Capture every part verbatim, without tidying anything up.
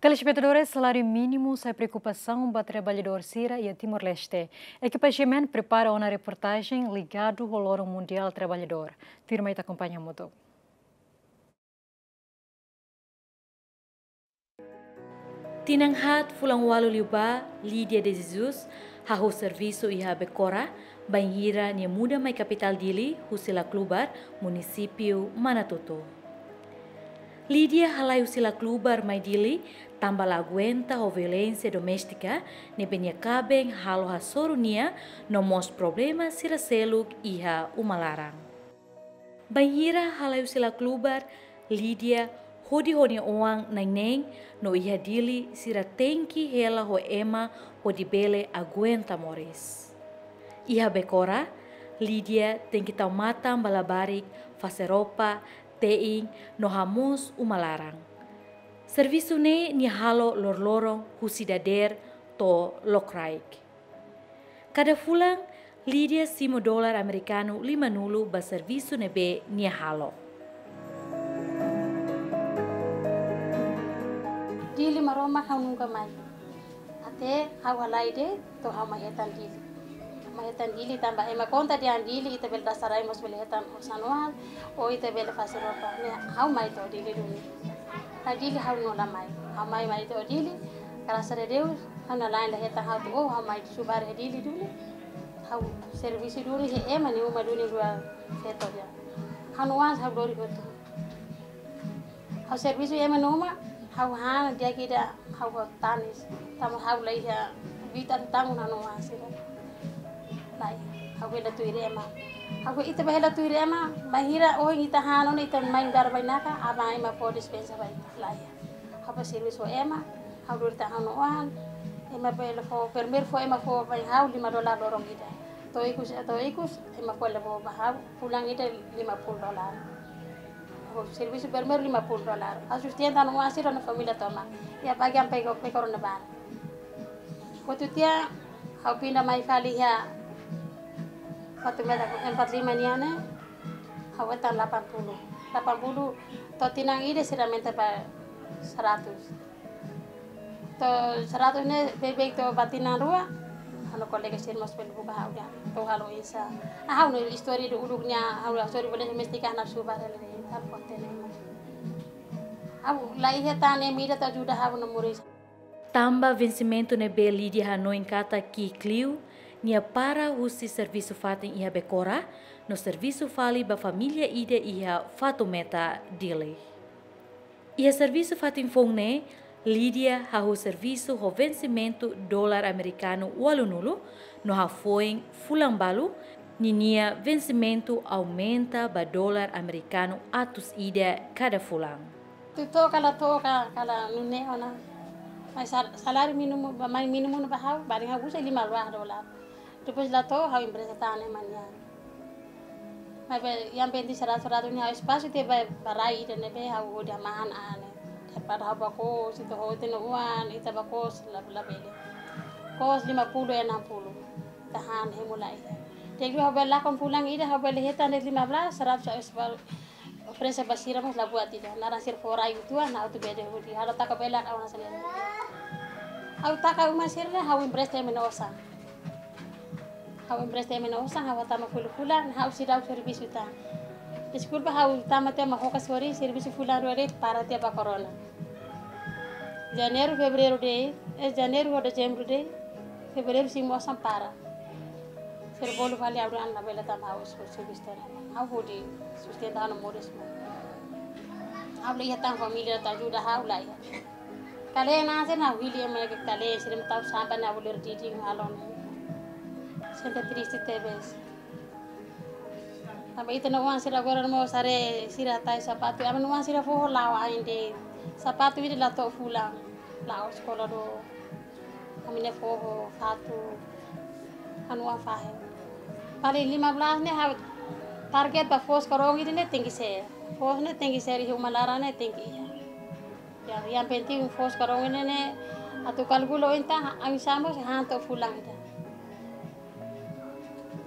Telespetadores, saláriu mínimu sai preokupasaun ba traballadór sira iha Timor-Leste. Ekipa G M N prepara ona reportajen ligadu ho Loron Mundiál Traballadór. Tuirmai ita akompaña hamutuk. Tinan haat fulan ualu liubá, Lídia de Jesus hahú servisu iha Becora, bainhira nia muda mai kapitál Dili husi Laclubar, munisípiu Manatuto. Lídia halai husi Laclubar mai Dili tanba la aguenta ho violénsia doméstika ne'ebé nia kaben halo hasoru nia no mós problema sira seluk iha uma laran. Bainhira halai husi Laclubar, Lídia hodi ho nia oan na'in-neen no iha Dili sira tenke hela ho ema hodi bele aguenta moris. Iha Becora, Lídia tenke tau matan ba labarik, fase roupa, te'in no hamoos uma laran. Servisu ne'e nia halo loroloron husi dadeer to'o lokraik. Kada fulan, Lídia simu dolar amerikanu limanulu ba servisu ne'ebé nia halo. Dili Maromak ha'u nunka mai. Até ha'u halai de'it, to'o ha'u mai hetan Dili. Mai hetan Dili tanba ema konta dehan Dili ita bele dasa rai mós bele hetan osan-oan, ou ita bele fase roupa. Ne'e ha'u mai to'o Dili duni. Ka Dili ha'u nunka la mai. Ha'u mai, mai to'o Dili. Grasas a Deus, ha'u-nia la'en la hetan ha'u to'o, ha'u mai subar iha Dili duni. Ha'u servisu duni iha ema nia uma duni rua feto dehan. Ha'u-nia oan ha'u lori hotu. Ha'u servisu iha ema nia uma, ha'u han di'ak ida ha'u ho tanis. Tanba ha'u la iha buat atu tanggung ha'u-nia oan sira. Lae, ha'u bele tuir ema. Ha'u ita bele tuir ema, bainhira ohin ita han ona ita mai nu'udar bainaka, aban ema fó dispensa ba ita. Lae. Ha'u bá servisu ho ema, ha'u lori tan ha'u-nia oan, ema bele fó, primeiru fó ema fó ba ha'u lima dolar loron ida. To'o ikus, to'o ikus, ema fó lebo ba ha'u, fulan ida lima puluh dolar. Ha'u servisu primeiru lima puluh dolar. Ha'u sustenta ha'u-nia oan sira no família tomak. Iha bagian peko, peko rona bar. Hotu tiha, ha'u pinda mai fali iha Fatumeta empat lima nian ne'e, ha'u hetan delapan puluh. Delapan puluh, to'o tinan ida sira aumenta ba seratus. To'o seratus ne'e beibeik to'o ba tinan rua, ha'u-nia kolega sira mós bele buka ha'u dehan, to'o halo oinsá. Ah, ha'u-nia istória uluk-uluk nian, ha'u-nia istória violénsia doméstika ha'u subar hela de'it, ha'u kontene. Ha'u la iha tan ema ida atu ajuda ha'u-nia moris. Tanba vensimentu ne'ebé Lídia hanoin katak ki'ik liu, nia para husi servisu fatin iha Becora, no servisu fali ba família ida iha Fatumeta, Dili. Iha servisu fatin foun ne'e, Lídia hahú servisu ho vensimentu dolar amerikanu ualunulu, no hafoin fulan balu, ninia vensimentu aumenta ba dolar amerikanu atus ida kada fulan. Atu to'o ka la to'o ka, ka la nune'e ona. Mas sal-, saláriu mínimu, ba mai mínimu ne'e ba ha'u, bainhira ha'u uza lima dolar. Depois la to'o ha'u empresta tan ema nian. Maibé yang penting seratus, seratus ne'e ha'u espasu tiha ba, ba rai ida ne'ebé ha'u hodi hamahan an ne'e. Daripada ha'u bá kos, ita hotu-hotu nia oan, ita bá kos la, labele. Kos lima puluh, enam puluh. Ita han hemu lai. Jadi ha'u bele lakon fulan ida, ha'u bele hetan de'it lima belas, seratus ha'u espal-, oferese ba sira mós la buat ida. Naran sira fó rai uitoan, ha'u atu bele hodi. Ha'u la taka belak ha'u-nia saleru. Ha'u taka uma sira ne'e, ha'u empresta ema nia osan. Ha'u empresta ema nia osan, ha'u hatama fulan-fulan, ha'u seidauk servisu tan. Deskulpa ha'u tama tiha mak hokas hori, servisu fulan rua de'it para tiha ba korona. Janeiru, fevereiru de'it, eh, janeiru ho dezembru de'it, fevereiru simu osan para. Sira bolu fali ha'u dehan labele tanba ha'u servisu tan. Ha'u hodi sustenta ha'u-nia moris. Ha'u la iha tan família atu ajuda ha'u, la iha. Kale na se na hili ema ke kale sira mak tau sampah na boleh didi ngalon. Sente triste tebes. Tanba ita-nia oan sira agora mós sare sira tau sapatu. Ami-nia oan sira fó la'o ain de'it. Sapatu ida la to'o fulan. La'o eskola do. Ami-nia foho fatu. Ha'u-nia oan fahe. Paling lima belas ne'e ha'u target ba foos karong ida ne'e tenke ser. Foos ne'e tenke ser, iha uma laran ne'e tenke iha. Ya, yang penting foos karong ne'e ne'e atu kalkula oin tan, ami sama han to'o fulan ida.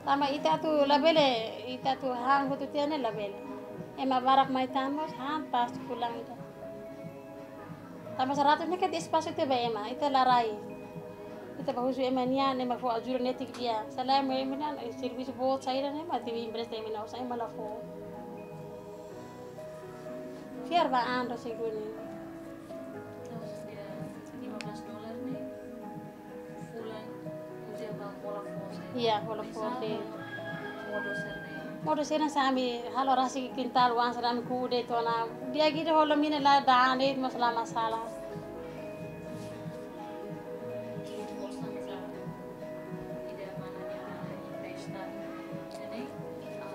Tanba ita atu labele, ita atu han hotu tiha ne'e labele. Ema barak mai tan mós han pas fulan ida. Tanba seratus ne'e kan espasu ita ba ema, ita la rai. Ita ba husu ema nian, ema fó ajuda netik di'ak. Selae ema nian, eh, servisu boot saida ne'e, ema atu empresta ema nian, osan ema la fó. Fiar ba an do seguni. Terus dia lima belas dolar ne'e, fulan uza ba hola fó saida. Iya, hola fó saida. Modo sira-ne'e. Modo sira-ne'e se ami halo rasik kintal oan sira ami ku'u de'it ona. Di'ak ida hola mina la dane mós la masalah. Ida mana nia empresta. Jadi, ah,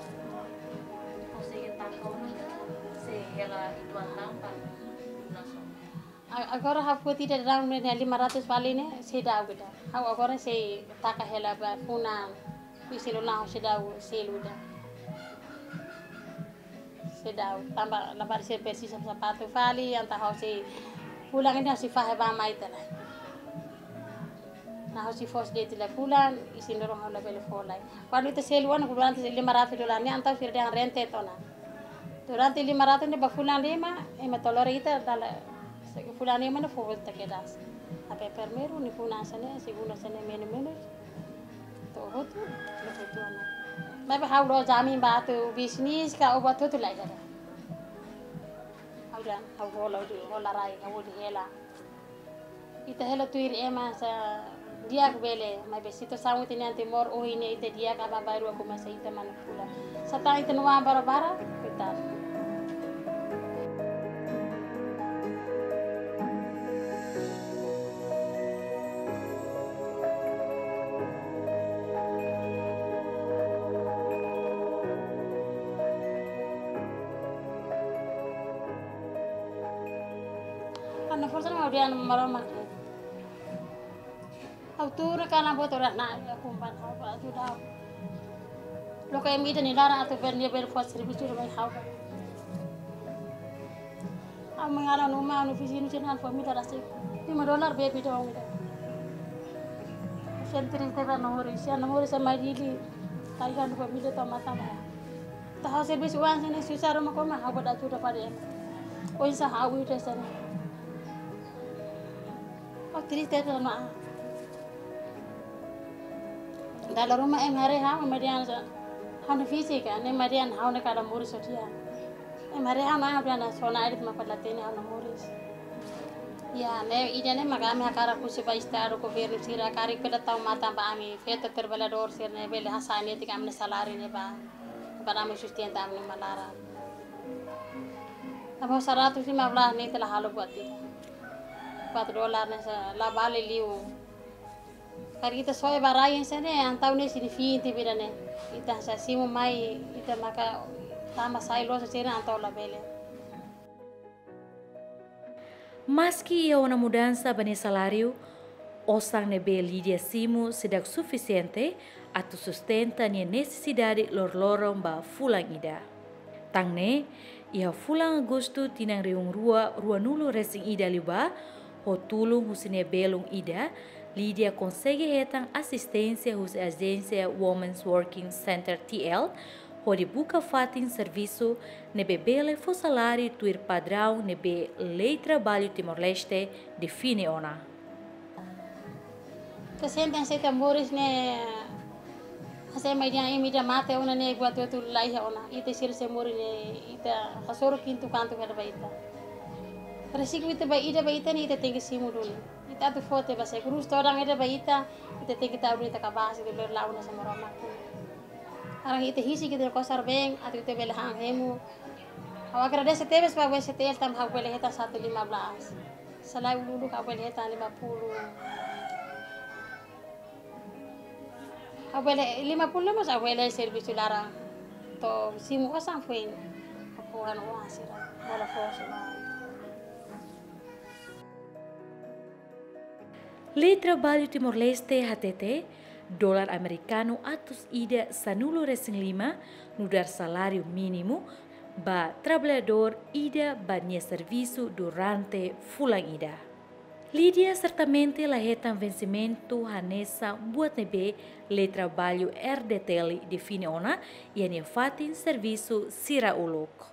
konsege taka ona ka, se hela uitoan tan ba langsung. A-, agora ha'u foti ida daudaun ne'e lima ratus fali ne'e, seidauk ida. Ha'u agora sei taka hela ba funan, isin lula ha'u seidauk selu ida. Seidauk, tanba labarik sira presiza sapatu fali, entaun ha'u sei fulan ida ha'u sei fahe ba mai tiha lai. Nah, ha'u sei fó de'it tiha lai fulan, isin loron ha'u labele fó lai. Kuandu ita selu ona, kuandu ita lima ratus dolar ne'e, entaun sira dehan rente tiha ona. Durante lima ratus ne'e ba fulan lima, ema to'o lori ita dala, se fulan lima ne'e fó volta kedas. Tapi primeiru ne'e funan sira-ne'e, segundu sira-ne'e menus-menus. To'o hotu, to'o hotu ona. Maibé ha'u la'ós jamin ba atu bisnis ka o ba tutu lai kada. Ha'u dehan, ha'u hola, ha'u hola rai, ha'u hodi hela. Ita hela tuir ema sá di'ak bele, maibé situasaun ita-nia Timor ohin ne'e ita di'ak aban-bainrua komesa ita manipula. Satán ita-nia oan barabara, koitadu. Ha'u-nia forsa ne'e ha'u dehan Maromak. Ha'u tuur kalan boot ora na, ya kumban ha'u ba ajuda. Loke ema ida nia laran atu bele, nia bele fó servisu ba ha'u. Ha'u mengaran uma anu vizinu sira-nia família rasik. Lima dolar bebe dong ida. Sentri teba nomor isi, nomor isi mai Dili. Taihan família tau mata maya. Ita ha'u servisu oan sira-ne'e susar uma koma ha'u ba ajuda ba ema. Oinsá ha'u ida sira-ne'e. Oh, triste tu ma. Dala ruma ema haree ha'u, ema dehan sa, ha'u-nia fízika, ne'e ema dehan ha'u ne'e kada moris ho dia. Ema haree ha'u, ema dehan sona edit mak pada tene ha'u-nia moris. Ya, ne'e ida-ne'e maka ami hakarak husu ba Estadu, governu sira karik bele tau matan ba ami, feto traballadór sira-ne'e bele hasa'e netik ami-nia saláriu ne'e ba, para ami sustenta ami-nia uma laran. Tanba seratus lima belas ne'e ita la halo buat ida. Empat dolar ne'e sá la bale liu. Karik ita soe ba rai sira-ne'e, entaun ne'e signifika ita bida ne'e. Ita sá simu mai, ita maka tama sai loos sira-ne'e entaun labele. Maski iha ona mudansa ba nia saláriu, osan ne'ebé Lídia simu seidauk sufisiente atu sustenta nia nesesidade loroloron ba fulan ida. Tan ne'e, iha fulan Agostu tinan rihun rua ruanulu resin ida liubá, ho tulun husi nia belun ida, Lídia konsege hetan asisténsia husi ajénsia Women's Working Center T L, hodi buka fatin servisu ne'ebé bele fó saláriu tuir padraun ne'ebé Lei Traballu Timor-Leste define ona. Ita sente hanesan ita moris ne'e, hanesan ema dehan imi ida mate ona ne'e buat hotu la iha ona. Ita sira sei moris ne'e, ita hasoru kintu kantu kada ba ita. Resiku ita ba ida ba ita ne'e ita tenke simu duni. Ita atu fó tiha ba seguru todan ida ba ita, ita tenke tau duni ita kabaas ita bele la'o ona sama Maromak. Agora ita husik ita-nia kosar-been, atu ita bele han hemu. Ha'u agradese tebes ba W C T L tanba ha'u bele hetan satu lima belas. Selae uluk-uluk ha'u bele hetan lima puluh. Ha'u bele lima puluh lima ha'u bele servisu laran. To'o simu osan foin. Ha'u anu oan sira. Bola fosu. Lei Traballu Timor-Leste hatete, dolar amerikanu atus ida sanulu resin lima, nu'udar saláriu mínimu, ba traballadór ida ba nia servisu durante fulan ida. Lídia sertamente la hetan vensimentu hanesan buat ne'ebé Lei Traballu R D T L define ona iha nia fatin servisu sira uluk.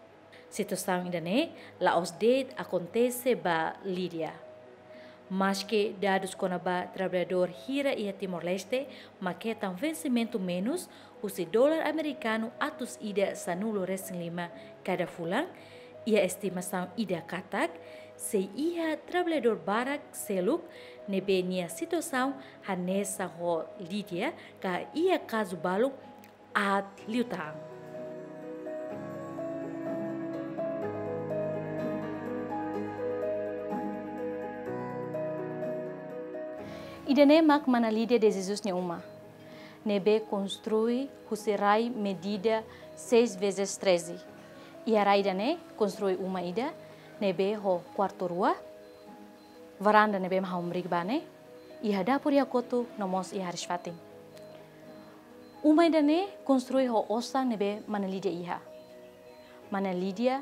Situasaun ida-ne'e la'ós de'it akontese ba Lídia. Maske dadus kona-ba traballadór hira iha Timor-Leste mak hetan vensimentu menus husi dolar amerikanu atus ida sanulu-resin-lima kada fulan, iha estimasaun ida katak, sei iha traballadór barak seluk ne'ebé nia situasaun hanesan ho Lídia ka iha kazu balu aat liután. Ida-ne'e mak Mana Lídia de Jesus nia uma, ne'ebé konstrui husi rai medida seis vezes treze. Iha rai ida-ne'e konstrui uma ida ne'ebé ho kuartu rua, varanda ne'ebé mak ha'u hamriik ba ne'e, iha dapur iha kotuk no mós iha hariis-fatin. Uma ida-ne'e konstrui ho osan ne'ebé Mana Lídia iha. Mana Lídia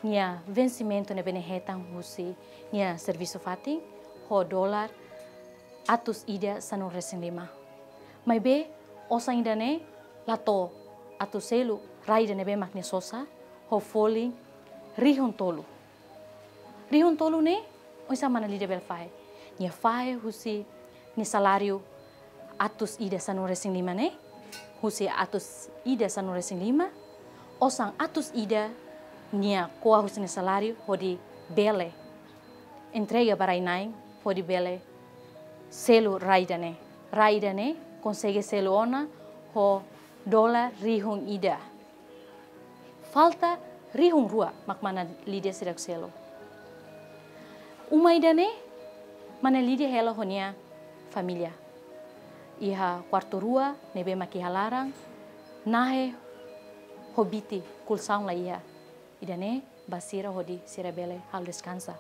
nia vensimentu ne'ebé nia hetan husi nia servisu fatin ho dolar atus ida sanulu-resin-lima. Maibé osan ida-ne'e la to'o atu selu rai ida ne'ebé mak nia sosa ho folin rihun tolu. Rihun tolu ne'e, oinsá Mana Lídia bele fahe? Nia fahe husi nia saláriu atus ida sanulu-resin-lima ne'e, husi atus ida sanulu-resin-lima, osan atus ida nia ko'a husi nia saláriu hodi bele entrega ba rai-na'in hodi bele selu rai ida-ne'e. Rai ida-ne'e konsege selu ona ho dolar rihun ida. Falta rihun rua mak Mana Lídia seidauk selu. Uma ida-ne'e Mana Lídia hela ho nia família. Iha kuartu rua ne'ebé mak iha laran, nahe ho biti, kolxaun la iha. Ida-ne'e ba sira hodi sira bele halo deskansa.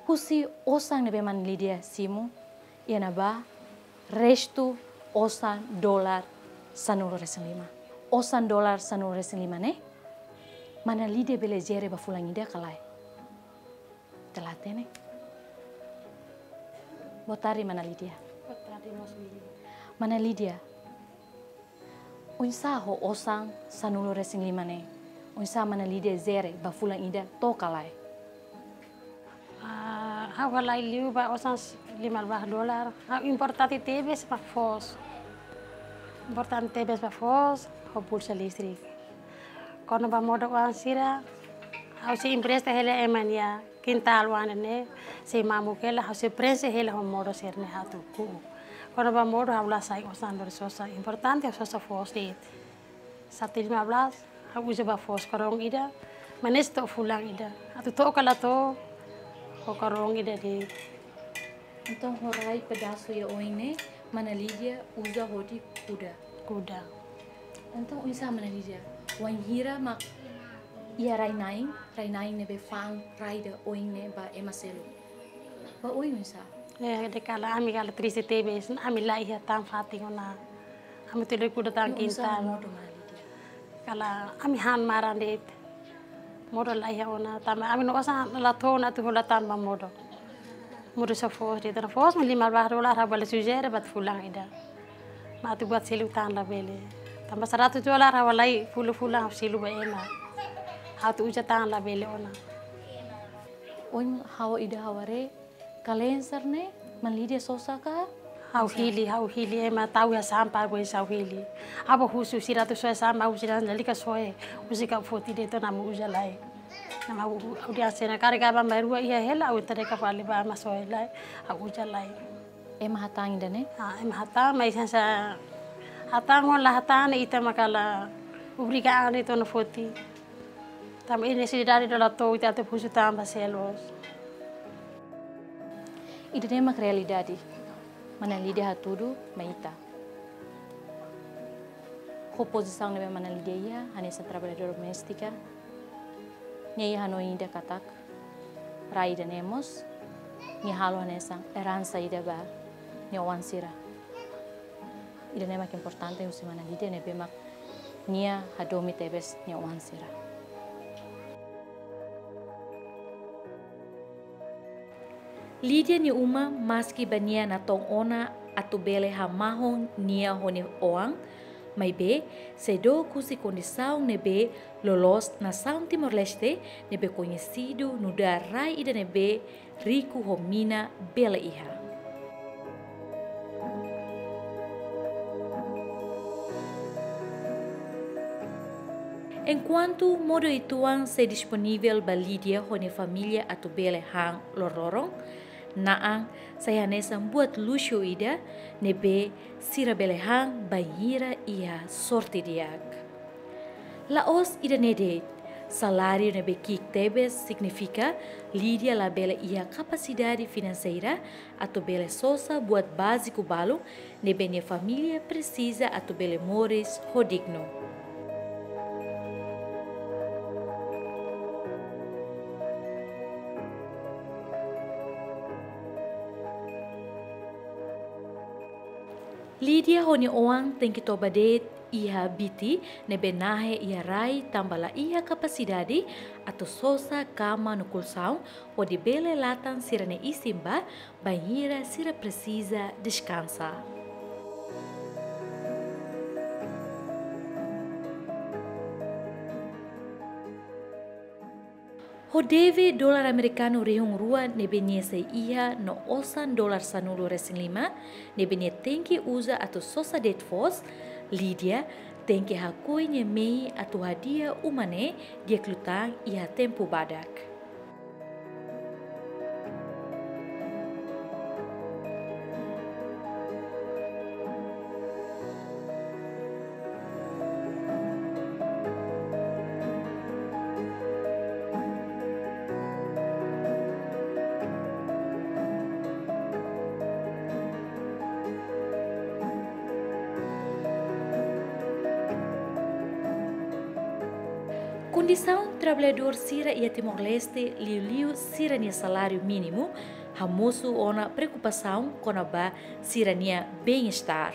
Husi osan ne'ebé Mana Lídia simu, iha ne'ebá restu osan dolar sanulu-resin-lima. Osan dolar sanulu-resin-lima ne'e, Mana Lídia bele jere ba fulan ida ka lae? Ita la hatene. Boa tarde, Mana Lídia. Boa tarde, mós Lídia. Mana Lídia, oinsá ho osan sanulu-resin-lima ne'e? Oinsá Mana Lídia jere ba fulan ida to'o ka lae? Ah, ha'u halai liu ba osan s-, lima belas dolar. Ha'u importante tebes ba foos. Importante tebes ba foos, ho pulsa listrik. Kona-ba modo oan sira, ha'u sei empresta hela ema nia kintál oan ne'e, sei mamuk hela, ha'u sei prenxe hela ho modo sira-ne'e atu ku'u. Kona-ba modo ha'u la sai osan lori sosa, importante ha'u sosa foos de'it. Satu lima belas, ha'u uza ba foos karong ida, manes to'o fulan ida. Atu to'o ka la to'o, ho karong ida de'it. Entaun ho rai pedasu iha oin ne'e, Mana Lídia uza hodi kuda. Kuda. Entaun oinsá Mana Lídia, wainhira mak iha rai-na'in, rai-na'in ne'ebé fa'an rai ida oin ne'e ba ema seluk, ba oin oinsá? Eh, dehan kala ami kala triste tebes, ami la iha tan fatin ona. Ami tuir kuda tan kintál. Oinsá modo Mana Lídia? Kala ami han maran de'it. Modo la iha ona, tanba ami-nia osan la to'o ona atu hola tan ba modo. Modo só foos de'it, tanba foos mak lima belas dolar ha'u bele sujere ba fulan ida. Mak atu buat selu tan labele. Tanba seratus dolar ha'u halai fulan-fulan ha'u selu ba ema. Atu uza tan labele ona. Ohin ha'u ida ha'u haree, kalensar ne'e Mana Lídia sosa ka? Ha'u hili, ha'u hili, ema tau iha sampah, ha'u hili. Ha'u husu sira atu soe sampah, ha'u sira lalika soe. Husik ha'u foti de'it ona ha'u uza lai. Tanba ha'u, ha'u dehan se ona karga ba mai rua iha hela, ha'u entrega fali ba ema soe lai, ha'u uza lai. Ema hatán ida-ne'e? Ah, ema hatán, mas hanesan hatán ho la hatán, ita mak la obriga an de'it ona foti. Tanba nesesidade ida la to'o, ita atu husu tan ba sira loos. Ida-ne'e mak realidade Mana Lídia hatudu mai ita. Ho pozisaun ne'ebé Mana Lídia iha, hanesan traballadora doméstika, nia iha hanoin ida katak rai ida-ne'e mós nia halo hanesan eransa ida ba nia oan sira. Ida-ne'e mak importante husi Mana Lídia ne'ebé mak nia hadomi tebes nia oan sira. Lídia nia uma maski ba nia natoon ona atu bele hamahon nia ho nia oan, Maibé, seidauk husi kondisaun ne'ebé loloos nasaun Timor-Leste, ne'ebé koñesidu nu'udar rai ida ne'ebé riku ho mina bele iha. Enkuantu modo uitoan sei disponivel ba Lídia ho nia família atu bele han loroloron, na'an sai hanesan buat luxu ida ne'ebé sira bele han bainhira iha sorte di'ak. La'ós ida-ne'e de'it, saláriu ne'ebé ki'ik tebes signifika Lídia labele iha kapasidade finanseira atu bele sosa buat báziku balu ne'ebé nia família presiza atu bele moris ho dignu. Lídia ho nia oan tenke toba de'it iha biti ne'ebé nahe iha rai tanba la iha kapasidade atu sosa kama no kolxaun hodi bele latan sira-nia isin bá bainhira sira presiza deskansa. Ho deve dolar amerikanu rihun rua ne'ebé nia sei iha no osan dolar sanulu-resin-lima ne'ebé nia tenke uza atu sosa de'it foos, Lídia tenke hakoi nia mehi atu hadi'a uma ne'e di'ak liután iha tempu badak. Kondisaun traballadór sira iha Timor-Leste, liuliu sira-nia saláriu mínimu, hamosu ona preokupasaun kona-ba sira-nia bem-estar.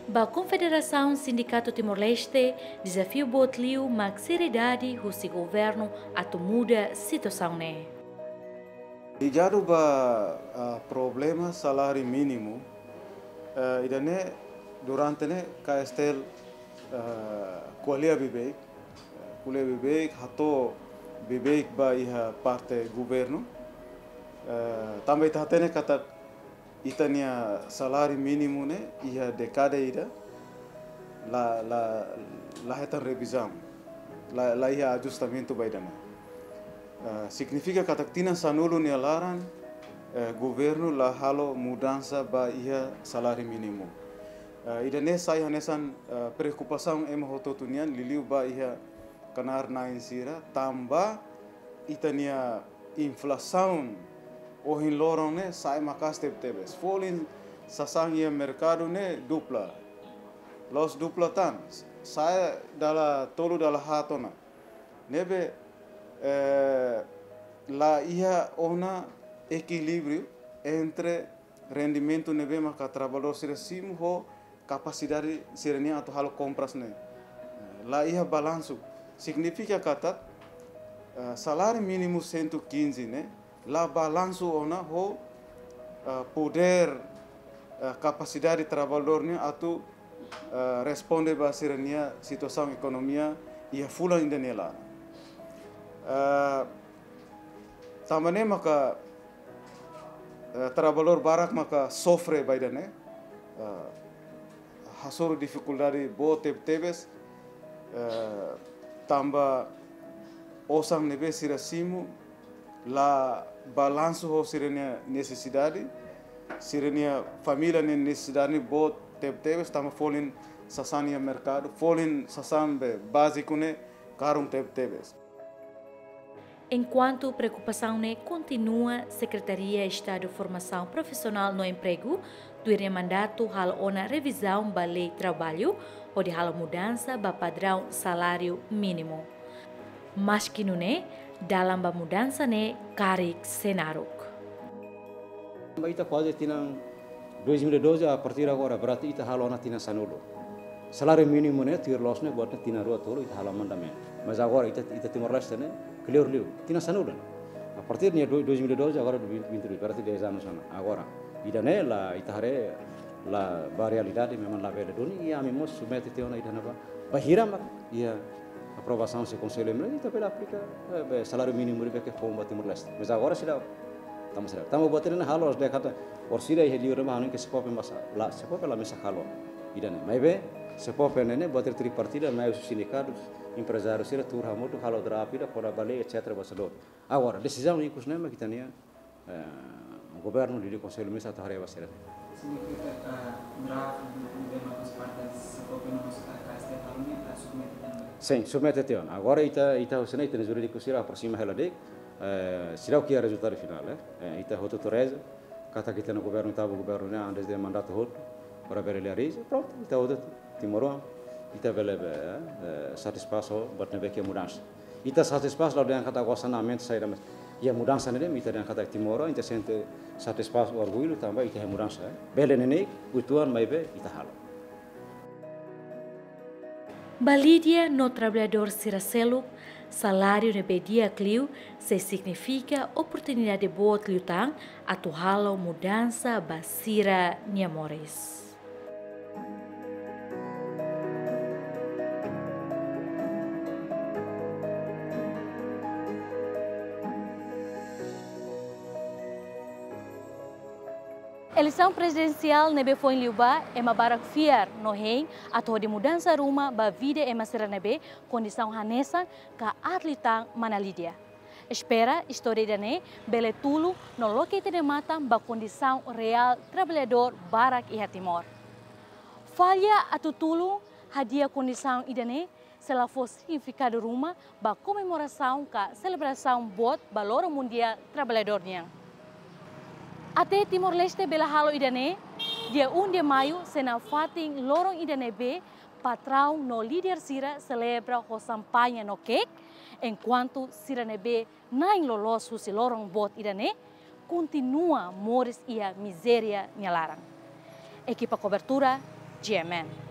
Ba Konfederasaun Sindikatu Timor-Leste, dezafiu boot liu mak seriedade husi governu atu muda situasaun ne'e. Ligadu ba, ah, problema saláriu mínimu, eh, ida-ne'e durante ne'e K S T L, eh, ko'alia beibeik, eh, ko'alia beibeik, hato'o beibeik ba iha parte governu. Eh, tanba ita hatene katak ita-nia saláriu mínimu ne'e iha dékada ida la, la, la hetan revizaun, la, la iha ajustamentu ba ida-ne'e. Eh, signifika katak tinan sanulu nia laran, eh, governu la halo mudansa ba iha saláriu mínimu. Eh, ida-ne'e sai hanesan, eh, preokupasaun ema hotu-hotu nian, liuliu ba iha knaar-na'in sira, tanba ita-nia inflasaun ohin loron ne'e sai maka'as tebetebes. Folin sasán iha merkadu ne'e dupla. La'ós dupla tan, sai dala tolu dala haat ona. Ne'ebé, eh, la iha ona ekilíbriu entre rendimentu ne'ebé maka traballadór sira simu ho kapasidade sira-nian atu halo kompras ne'e. La iha balansu. Signifika katak, eh, saláriu mínimu cento e quinze ne'e la balansu ona ho, eh, podér, eh, kapasidade traballadór nian atu, eh, responde ba sira-nia situasaun ekonomia iha fulan ida-ne'e laran. Eh, tanba ne'e maka, eh, traballadór barak maka sofre ba ida-ne'e, eh, hasoru difikuldade boot tebetebes, eh, tanba osan ne'ebé sira simu la balansu ho sira-nia nesesidade, sira-nia família nia nesesidade ne'e boot tebetebes, tanba folin sasán iha merkadu, folin sasán be báziku ne'e karun tebetebes. Enkuantu preokupasaun ne'e kontinua, Sekretaria Estadu Formasaun Profisionál no Empregu tuir nia mandatu halo ona revizaun ba lei traballu, hodi halo mudansa ba padraun saláriu mínimu. Maski nune'e, dalan ba mudansa ne'e karik sei naruk. Ita kuaze tinan dois mil e doze, a partir agora, berarti ita halo ona tinan sanulu. Saláriu mínimu ne'e, tuir loos ne'e, buat ne'e tinan rua tolu, ita halo amandementu. Mas agora, ita, ita Timor-Leste ne'e, kleur liu, tinan sanulu. A partir de dois mil e doze, agora de vinte, vinte e dois, berarti dez anos ona. Agora, ida-ne'e la, ita haree, La ba realidade, memang labele duni, i ami mós submete tiha ona ida-ne'e ba, bainhira mak iha aprovasaun husi Konsellu Emerjénsia, ita bele aplika, eh, be saláriu mínimu ne'ebé ke foun ba Timor-Leste. Mas agora seidauk. Tanba seidauk. Tanba buat ne'e halo, ha'u dehan katak, orsida iha liur ne'ebá hanoin ke SEPOPE mós la, SEPOPE la mesak halo ida-ne'e. Maibé, SEPOPE ne'e, ne'e buat tripartida, mai husi sindikatu, emprezáriu sira tuur hamutuk halo draft ida, kona-ba lei, et cetera, ba seluruh. Agora, desizaun ikus ne'e mak ita-nia, eh, governu, liuliu Konsellu Ministru atu haree ba sira. Signifika, eh, draft do governo dos partes, SEPOPE no mós, eh, K S T halo ne'e, eh, submete tiha ona? Sin, submete tiha ona. Agora ita, ita husi ne'e, ita-nia jurídiku sira aproxima hela de'it, eh, seidauk iha rezultadu finál, eh. Eh, ita hotu-hotu reza katak ita-nia governu, ita-nia governu ne'e, antes de mandatu hotu, para bele realiza, prontu, ita hotu-hotu timoroan, ita bele be, eh, satisfás ho buat ne'ebé ke mudansa. Ita satisfás, la dehan katak gosta na mente saida, mas iha mudansa ne'e de'it, ita dehan katak timoroan, ita sente satisfás, orgullu, tanba ita iha mudansa, eh. Bele neineik uitoan, maibé ita halo. Ba Lídia no traballadór sira seluk, saláriu ne'ebé di'ak liu sei signifika oportunidade boot liután atu halo mudansa ba sira-nia moris. Eleisaun prezidensiál ne'ebé foin liubá, ema barak fiar no hein atu hodi mudansa ruma ba vida ema sira ne'ebé kondisaun hanesan ka aat liután mana Lídia. Espera istória ida-ne'e bele tulun no loke ita-nia matan ba kondisaun reál traballadór barak iha Timor. Falla atu tulun hadi'a kondisaun ida-ne'e sei la fó signifikadu ruma ba komemorasaun ka selebrasaun boot ba Loron Mundiál Traballadór nian. Até Timor-Leste bele halo ida-ne'e, dia um de maio sei nafatin loron ida ne'ebé patraun no líder sira selebra ho xampaña no kek, enkuantu sira ne'ebé na'in loloos husi loron boot ida-ne'e kontinua moris iha mizéria nia laran. Ekipa kobertura, G M N.